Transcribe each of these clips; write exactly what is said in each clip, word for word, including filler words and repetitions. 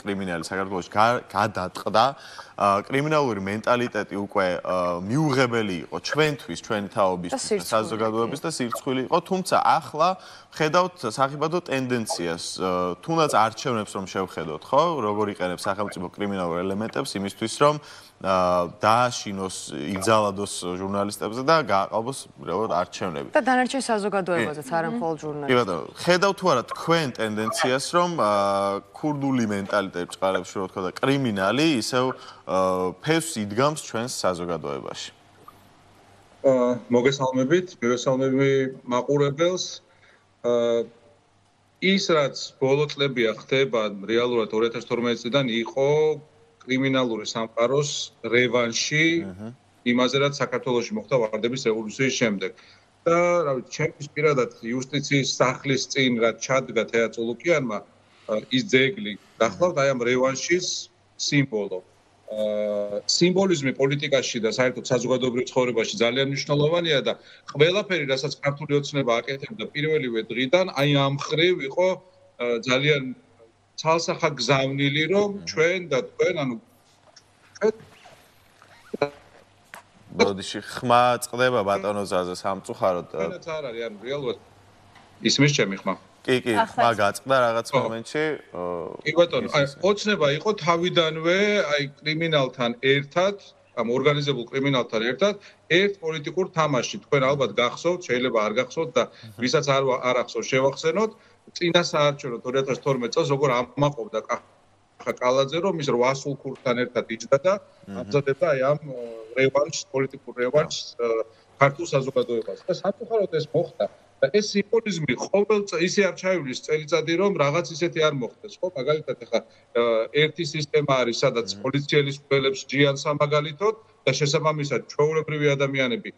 კრიმინალი საქართველოში გადატყდა, კრიმინალური მენტალიტეტი უკვე მიუღებელი იყო ჩვენთვის, ჩვენი თაობის საზოგადოების და სირცხვილი იყო, თუმცა ახლა ხედავთ სახიფათო ტენდენციას, თუნდაც არჩევნებს რომ შევხედოთ, ხო, როგორ იყენებს სახელმწიფო კრიმინალურ ელემენტებს იმისთვის, რომ დააშინოს, იგზალადოს ჟურნალისტებზე და გააყალბოს რეალურად არჩევნები. და დანარჩენ საზოგადოებაზეც, არა მხოლოდ ჟურნალისტებს. კი ბატონო, ხედავთ თუ არა თქვენ ტენდენციას, რომ ქურდული მენტალიტეტი წყარებში რო თქვა და კრიმინალი ისევ ფესვს იდგამს ჩვენს საზოგადოებაში. მოგესალმებით, მივესალმები მაყურებელს. ის რაც ბოლო წლებია ხდება, რეალურად ორი ათას თორმეტი წლიდან იყო კრიმინალური სამყაროს რევანში იმაზე, რაც საქართველოში მოხდა ვარდების რევოლუციის შემდეგ. და რა ვიცი, ჩემთვის პირადად იუსტიციის სახლის წინ რაც ჩადგა თეა წულუკიანმა ის ძეგლი გახლავთ აი ამ რევანშის სიმბოლო. სიმბოლიზმი პოლიტიკაში და საერთოდ საზოგადოებრივ ცხოვრებაში ძალიან მნიშვნელოვანია და ყველაფერი, რასაც ქართული ოცნება აკეთებდა პირველივე დღიდან, აი ამ ხრივ იყო ძალიან ცალსახაგზავნილი, რომ ჩვენ და თქვენ, ანუ ბოდიში ხმა წყდება ბატონო ზაზე სამწუხაროდ. თქვენაც არ არის, ანუ რეალურად ისმის ჩემი ხმა. კი, კი, ხმა გაწყდა რაღაც მომენტში. კი ბატონო, აი ოცნება იყო თავიდანვე, აი კრიმინალთან ერთად, ამ ორგანიზებულ კრიმინალთან ერთად, ერთ პოლიტიკურ თამაში. თქვენ ალბათ გახსოვთ, შეიძლება არ გახსოვთ და ვისაც არ არ ახსოვს შევახსენოთ, წინა საარჩევნო ორი ათას თორმეტი წელს როგორ ამაყობდა კალაძე, რომ ის რვა სულქურთან ერთად იჯდა და ამზადებდა აი ამ რევანშს, პოლიტიკურ რევანშს ქართულ საზოგადოებას. და სამწუხაროდ ეს მოხდა. და ეს სიმბოლიზმი ყოველ ისე არ ჩაივლის წელიწადი, რომ რაღაც ისეთი არ მოხდეს, ხო? მაგალითად, ახლა ერთი სისტემა არის, სადაც პოლიციელის კვლელებს ჯიან სამაგალითოდ და შესაბამისად ჩვეულებრივი ადამიანები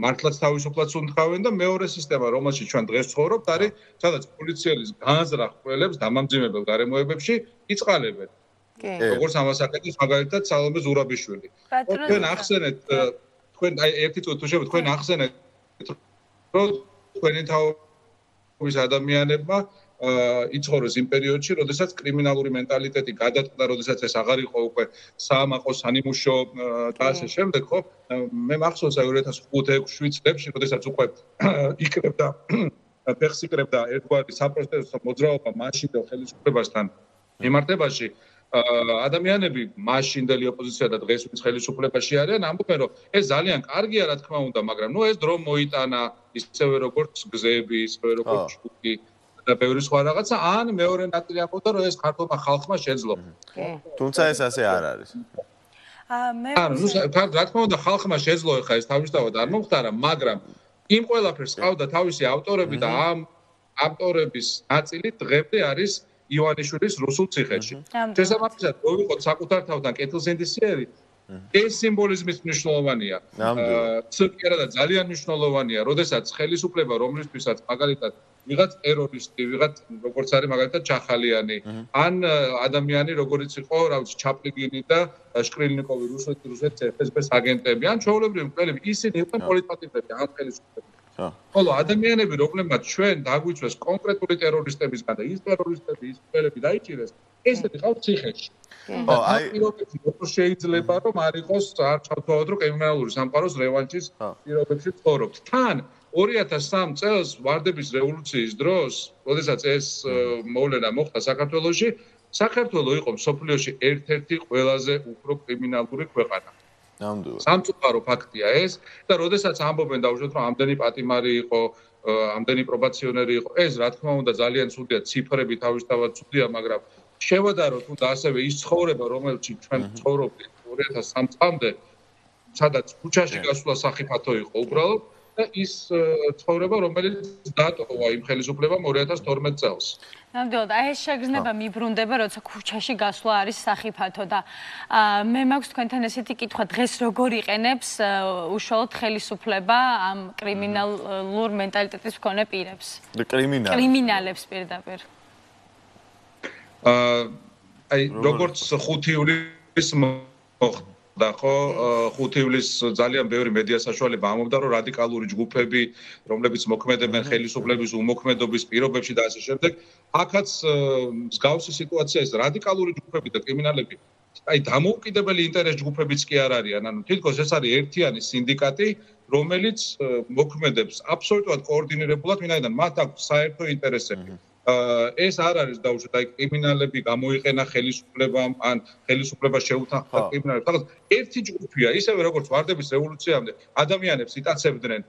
მართლაც თავისუფლად უნდღავენ და მეორე სისტემა, რომელშიც ჩვენ დღეს ვცხოვრობთ, არის, სადაც პოლიციელის განზრახ კვლელებს დამამძიმებელ გარემოებებში იწყალებენ. როგორც ამას აკეთებს მაგალითად სალომე ზურაბიშვილი. თქვენ ახსენეთ, თქვენ აი ერთი წუთი თუ შეიძლება თქვენ ახსენეთ, რომ თქვენი თაობის ადამიანებმა იცხოვრეს იმ პერიოდში, როდესაც კრიმინალური მენტალიტეტი გადატყდა, როდესაც ეს აღარ იყო უკვე საამაყო, სანიმუშო და ასე შემდეგ, ხო? მე მახსოვს აი ორი ათას ხუთი ექვსი შვიდ წლებში, როდესაც უკვე იკრებდა ფეხს იკრებდა ერთგვარი საპროტესტო მოძრაობა მაშინდელ ხელისუფლებასთან მიმართებაში, ადამიანები მაშინდელი ოპოზიცია და დღეს ვინც ხელისუფლებაში არიან, ამბობენ, რომ ეს ძალიან კარგია, რა თქმა უნდა, მაგრამ ნუ ეს დრო მოიტანა, ისევე როგორც გზები, ისევე როგორც ჯგუფი და ბევრი სხვა რაღაცა, ან მეორე ნაწილი ამბობდა, რომ ეს ქართულმა ხალხმა შეძლო. თუმცა ეს ასე არ არის. ანუ ნუ რა თქმა უნდა, ხალხმა შეძლო ხა ეს თავისთავად არ მომხდარა, მაგრამ იმ ყველაფერს ყავდა თავისი ავტორები და ამ ავტორების ნაწილი დღემდე არის ივანიშვილის რუსულ ციხეში. შესაბამისად, მოვიყოთ საკუთარ თავთან კეთილსინდისიერი, ეს სიმბოლიზმის მნიშვნელოვანია. ცოტა და ძალიან მნიშვნელოვანია, როდესაც ხელისუფლება, რომლისთვისაც მაგალითად ვიღაც ტერორისტი, ვიღაც როგორც არის მაგალითად ჩახალიანი, ან ადამიანი, როგორც იყო, რა ვიცი, ჩაპლიგინი და შკრილნიკოვი რუსეთის რუსეთის ეფ ეს ბეს აგენტები, ან ჩვეულებრივი მკვლელები, ისინი იყვნენ პოლიტპატიმრები, ან ხელისუფლება. ხოლო ადამიანები, რომლებმაც ჩვენ დაგვიწვეს კონკრეტული ტერორისტებისგან და ის ტერორისტები, ის მკვლელები დაიჭირეს, ესეთი ყავთ ციხეში. აი, როგორ შეიძლება რომ არ იყოს არ ჩავთვალოთ, რომ კრიმინალური სამყაროს რევანშის პირობებში ცხოვრობთ. თან ორი ათას სამი წელს ვარდების რევოლუციის დროს, როდესაც ეს მოვლენა მოხდა საქართველოში, საქართველო იყო მსოფლიოში ერთ-ერთი ყველაზე უფრო კრიმინალური ქვეყანა. ნამდვილად. სამწუხარო ფაქტია ეს და როდესაც ამბობენ დაუშვათ, რომ ამდენი პატიმარი იყო, ამდენი პრობაციონერი იყო, ეს რა თქმა უნდა ძალიან ცუდია, ციფრები თავისთავად ცუდია, მაგრამ შევადაროთ უნდა ასევე ის ცხოვრება, რომელშიც ჩვენ ცხოვრობდით ორი ათას სამი წლამდე, სადაც ქუჩაში გასვლა სახიფათო იყო უბრალოდ და ის ცხოვრება, რომელიც დატოვა იმ ხელისუფლებამ ორი ათას თორმეტი წელს. ნამდვილად, აი ეს შეგრძნება მიბრუნდება, როცა ქუჩაში გასვლა არის სახიფათო და მე მაქვს თქვენთან ესეთი კითხვა, დღეს როგორ იყენებს უშუალოდ ხელისუფლება ამ კრიმინალურ მენტალიტეტის მქონე პირებს? კრიმინალებს. კრიმინალებს პირდაპირ. აი, როგორც ხუთი ივლისს და ხო ხუთი ივლისს ძალიან ბევრი მედია საშუალება ამობდა რომ რადიკალური ჯგუფები რომლებიც მოქმედებენ ხელისუფლების უმოქმედობის პირობებში და ასე შემდეგ აქაც მსგავსი სიტუაცია ის რადიკალური ჯგუფები და კრიმინალები აი დამოუკიდებელი ინტერეს ჯგუფებიც კი არ არიან ანუ თითქოს ეს არის ერთიანი სინდიკატი რომელიც მოქმედებს აბსოლუტურად კოორდინირებულად ვინაიდან მათ აქვს საერთო ინტერესები ეს არ არის დაუშვათ აი კრიმინალები გამოიყენა ხელისუფლებამ ან ხელისუფლება შეუთანხმდა კრიმინალებს რაღაც ერთი ჯგუფია ისევე როგორც ვარდების რევოლუციამდე ადამიანებს იტაცებდნენ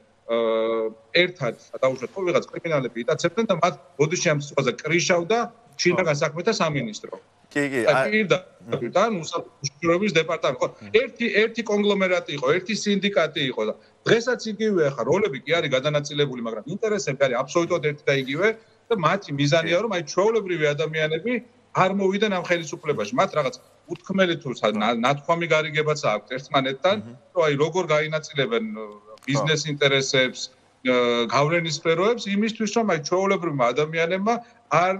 ერთად დაუშვათ ხო ვიღაც კრიმინალები იტაცებდნენ და მათ ბოდიში ამ სიტყვაზე კრიშავდა შინაგან საქმეთა სამინისტრო კი კი აი და უსაფრთხოების დეპარტამენტი ხო ერთი ერთი კონგლომერატი იყო ერთი სინდიკატი იყო და დღესაც იგივეა ხა როლები კი არის გადანაწილებული მაგრამ ინტერესები არის აბსოლუტურად ერთი და იგივე და მათი მიზანია რომ აი ჩვეულებრივი ადამიანები არ მოვიდნენ ამ ხელისუფლებაში მათ რაღაც უთქმელი თუ ნათქვამი გარიგებაც აქვს ერთმანეთთან რომ აი როგორ გაინაწილებენ ბიზნეს ინტერესებს გავლენის სფეროებს იმისთვის რომ აი ჩვეულებრივი ადამიანებმა არ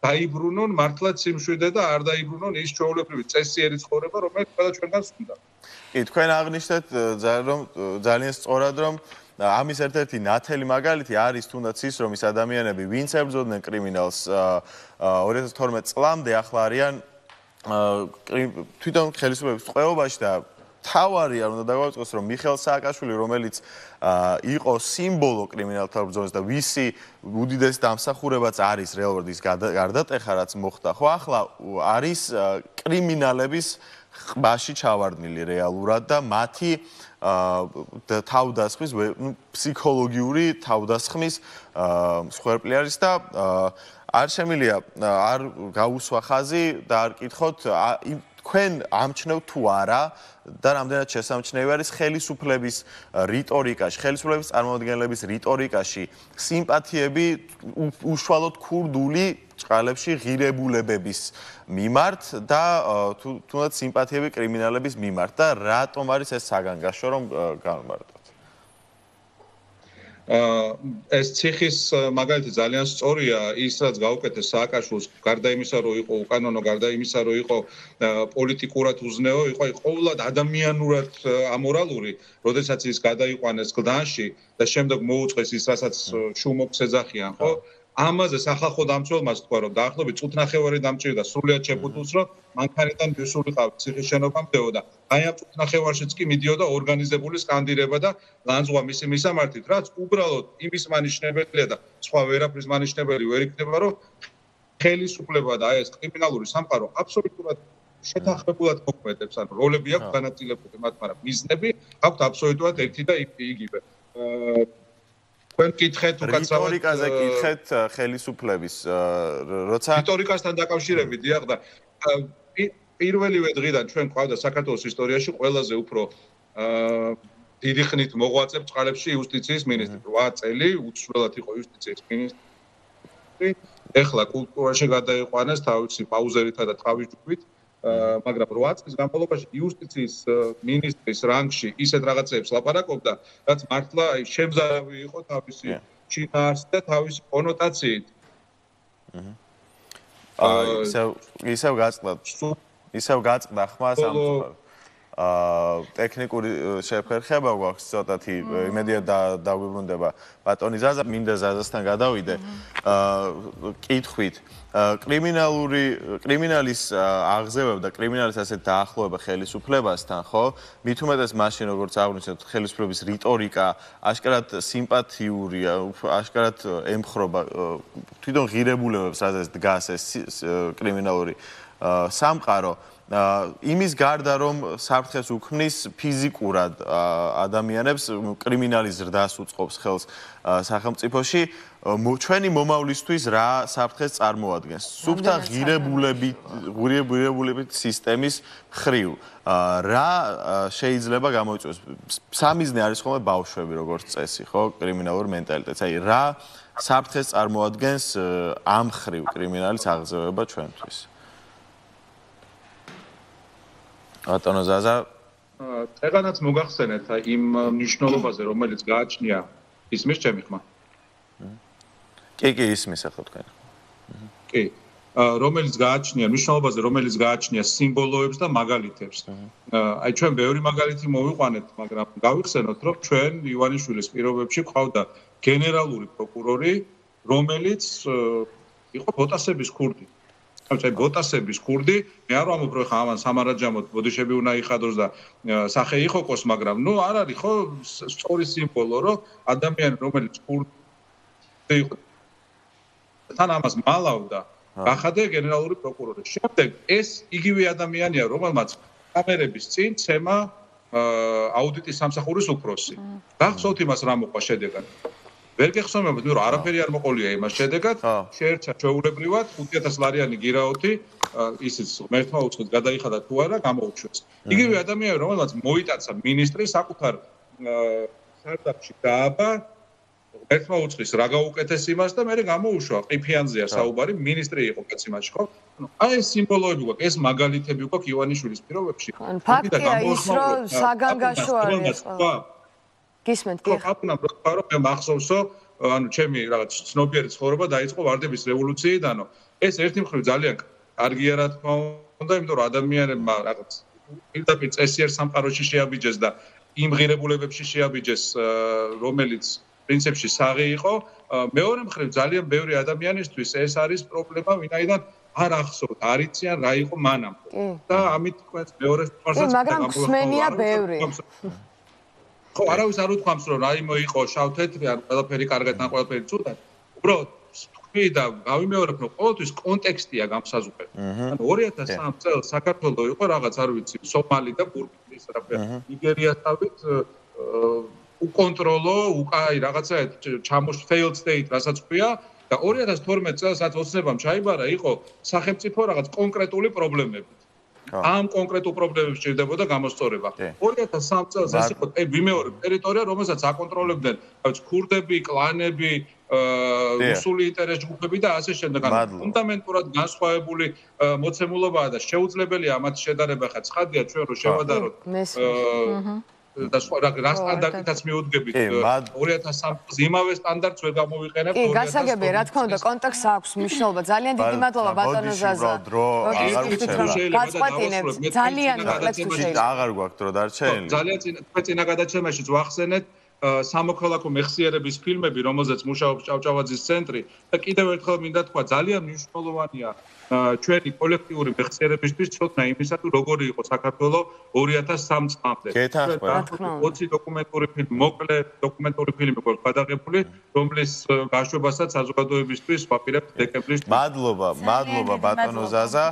დაიბრუნონ მართლაც სიმშვიდე და არ დაიბრუნონ ის ჩვეულებრივი წესიერი ცხოვრება რომელიც ყველა ჩვენგანს უნდა კი თქვენ აღნიშნეთ რომ ძალიან სწორად რომ ამის ერთ-ერთი ნათელი მაგალითი არის თუნდაც ის რომ ის ადამიანები ვინც ებრძოდნენ კრიმინალს ორი ათას თორმეტ წლამდე ახლა არიან თვითონ ხელისუფლების წყევობაში და თავარი არ უნდა დაგვაწყოს რომ მიხეილ სააკაშვილი რომელიც იყო სიმბოლო კრიმინალთა ბრძოლის და ვისი უდიდესი დამსახურებაც არის რეალურად ის გარდატეხა რაც მოხდა ხო ახლა არის კრიმინალების ყბაში ჩავარდნილი რეალურად და მათი თავდასხმის ფსიქოლოგიური თავდასხმის მსხვერპლი არის და არ შემიძლია არ გაუსვა ხაზი და არ კითხოთ თქვენ ამჩნევთ თუ არა და რამდენად შესამჩნევი არის ხელისუფლების რიტორიკაში, ხელისუფლების წარმომადგენლების რიტორიკაში სიმპათიები უშუალოდ ქურდული წყალებში ღირებულებების მიმართ და თუნდაც სიმპათიები კრიმინალების მიმართ და რატომ არის ეს საგანგაშო რომ განმარტოთ? ეს ციხის მაგალითი ძალიან სწორია ის რაც გაუკეთეს სააკაშვილს გარდა იმისა რომ იყო უკანონო გარდა იმისა რომ იყო პოლიტიკურად უზნეო იყო აი ყოველად ადამიანურად ამორალური როდესაც ის გადაიყვანეს გლდანში და შემდეგ მოუწყეს ის რასაც შუმოქს ეძახიან ხო ამაზე სახალხო დამცველმა თქვა რომ დაახლოებით წუთნახევარი დამჭირდა სრულიად შეფუთულს რომ მანქანიდან მისულიყავ ციხის შენობამდეო და აი ამ წუთნახევარშიც კი მიდიოდა ორგანიზებული სკანდირება და ლანძღვა მისი მისამართით რაც უბრალოდ იმის მანიშნებელია და სხვა ვერაფრის მანიშნებელი ვერ იქნება რომ ხელისუფლება და აი ეს კრიმინალური სამყარო აბსოლუტურად შეთანხმებულად მოქმედებს ანუ როლები აქვს განაწილებული მათ მაგრამ მიზნები აქვს აბსოლუტურად ერთი და იგივე თქვენ კითხეთ უკაცრავად რიტორიკაზე კითხეთ ხელისუფლების როცა რიტორიკასთან დაკავშირებით დიახ და პირველივე დღიდან ჩვენ ყავდა საქართველოს ისტორიაში ყველაზე უფრო დიდი ხნით მოღვაწე წყალებში იუსტიციის მინისტრი რვა წელი უცვლელად იყო იუსტიციის მინისტრი ეხლა კულტურაში გადაიყვანეს თავისი პაუზერითა და თავის ჯგუფით მაგრამ რვა წლის განმავლობაში იუსტიციის მინისტრის რანგში ისეთ რაღაცებს ლაპარაკობდა, რაც მართლა შემზარავი იყო თავისი ჩინაარსით და თავისი კონოტაციით. აა ისევ ისევ გაწყდა. ისევ გაწყდა ხმა სამწუხაროდ. აა ტექნიკური შეფერხება გვაქვს ცოტათი იმედია დაგვიბრუნდება ბატონი ზაზა მინდა ზაზასთან გადავიდე აა კითხვით კრიმინალური კრიმინალის აღზევება და კრიმინალის ასეთ დაახლოება ხელისუფლებასთან ხო მით უმეტეს მაშინ როგორც აღნიშნეთ ხელისუფლების რიტორიკა აშკარად სიმპათიურია აშკარად ემხრობა თვითონ ღირებულებებს რაზეც დგას ეს კრიმინალური სამყარო იმის გარდა რომ საფრთხეს უქმნის ფიზიკურად ადამიანებს კრიმინალის ზრდას უწყობს ხელს სახელმწიფოში ჩვენი მომავლისთვის რა საფრთხეს წარმოადგენს სუფთა ღირებულებით ღირებულებით სისტემის მხრივ რა შეიძლება გამოიწვიოს სამიზნე არის ხოლმე ბავშვები როგორც წესი ხო კრიმინალური მენტალიტეტი აი რა საფრთხეს წარმოადგენს ამ მხრივ კრიმინალის აღზევება ჩვენთვის ბატონო ზაზა ეგანაც მოგახსენეთ იმ მნიშვნელობაზე რომელიც გააჩნია ისმის ჩემი ხმა კი კი ისმის ახლა თქვენ კი რომელიც გააჩნია მნიშვნელობაზე, რომელიც გააჩნია სიმბოლოებს და მაგალითებს. აი ჩვენ ბევრი მაგალითი მოვიყვანეთ, მაგრამ გავიხსენოთ, რომ ჩვენ ივანიშვილის პირობებში ყავდა გენერალური პროკურორი, რომელიც იყო ბოტასების ქურდი. აი ბოტასების ქურდი, მე არ ვამბობ, რომ ხა ამან სამარაჯამოდ ბოდიშები უნდა იხადოს და სახე იხოკოს, მაგრამ ნუ არ არის ხო სწორი სიმბოლო, რომ ადამიანი, რომელიც ქურდი იყო თან ამას მალავდა გახადა გენერალური პროკურორი. შემდეგ ეს იგივე ადამიანია, რომელმაც კამერების წინ ცემა აუდიტის სამსახურის უფროსი. გახსოვთ იმას რა მოყვა შედეგად? ვერ გეხსოვებათ, რომ არაფერი არ მოყოლია იმას შედეგად, შეერჩა ჩვეულებრივად ხუთი ათას ლარიანი გირაოთი, ისიც მერთმა უცხოდ გადაიხადა თუ არა, გამოუჩვეს. იგივე ადამიანი, რომელმაც მოიტაცა მინისტრი საკუთარ სარდაფში დააბა ერთმა უცხის რა გაუკეთეს იმას და მე გამოუშვა ყიფიანზეა საუბარი მინისტრი იყო კაც იმაში ხო ანუ აი ეს სიმბოლოები გვაქვს ეს მაგალითები გვაქვს ივანიშვილის პირობებში ან ფაქტია ის რომ საგანგაშო არის ყველა გისმენთ კი ხა რომ მე მახსოვსო ანუ ჩემი რაღაც ცნობიერი ცხოვრება დაიწყო ვარდების რევოლუციიდანო ეს ერთი მხრივ ძალიან კარგია რა თქმა უნდა იმიტომ რომ ადამიანებმა რაღაც პირდაპირ წესიერ სამყაროში შეაბიჯეს და იმ ღირებულებებში შეაბიჯეს რომელიც პრინციპში საღი იყო მეორე მხრივ ძალიან ბევრი ადამიანისთვის ეს არის პრობლემა ვინაიდან არ ახსოვთ არ იციან რა იყო მანამდე და ამით თქვენს მეორე სპარსაც მაგრამ ხსმენია ბევრი ხო არავის არ უთქვამს რომ რაიმე იყო შავ-თეთრი ან ყველაფერი კარგად ან ყველაფერი ცუდად უბრალოდ თქვი და გავიმეორებ რომ ყოველთვის კონტექსტია გამსაზღვრე ანუ ორი ათას სამი წელს საქართველოს იყო რაღაც არ ვიცი სომალი და ბურკინის რაფერ ნიგერიასავით უკონტროლო, უკაი რაღაცა ჩამოშ failed state, რასაც ქვია და ორი ათას თორმეტ წელს რაც ოცნებამ ჩაიბარა, იყო სახელმწიფო რაღაც კონკრეტული პრობლემებით. ამ კონკრეტულ პრობლემებს ჭირდებოდა გამოსწორება. ორი ათას სამი წელს ეს იყო ვიმეორებ ტერიტორია, რომელსაც აკონტროლებდნენ ქურდები, კლანები, რუსული ინტერეს ჯგუფები და ასე შემდეგ. ფუნდამენტურად განსხვავებული მოცემულობაა და შეუძლებელია ამათ შედარება ხა ცხადია ჩვენ რომ შევადაროთ და რა სტანდარტითაც მიუდგებით ორი ათას სამი წელს იმავე სტანდარტს ვერ გამოვიყენებთ კი გასაგებია რა თქმა უნდა კონტექსტს აქვს მნიშვნელობა ძალიან დიდი მადლობა ბატონო ზაზა გაწყვეტინებთ ძალიან მოკლედ თუ შეიძლება აღარ გვაქვს დრო დარჩენილი ძალიან თქვენ წინა გადაცემაშიც ვახსენეთ სამოქალაქო მეხსიერების ფილმები რომელზეც მუშაობს ჭავჭავაძის ცენტრი და კიდევ ერთხელ მინდა თქვა ძალიან მნიშვნელოვანია ჩვენი კოლექტიური მეხსიერებისთვის ცოდნა იმისა თუ როგორი იყო საქართველოს ორი ათას სამი წლამდე. ოცი დოკუმენტური ფილმი, მოკლე დოკუმენტური ფილმი გვაქვს გადაღებული, რომლის გაშვებასაც საზოგადოებისთვის ვაპირებთ დეკემბრის. მადლობა, მადლობა ბატონო ზაზა.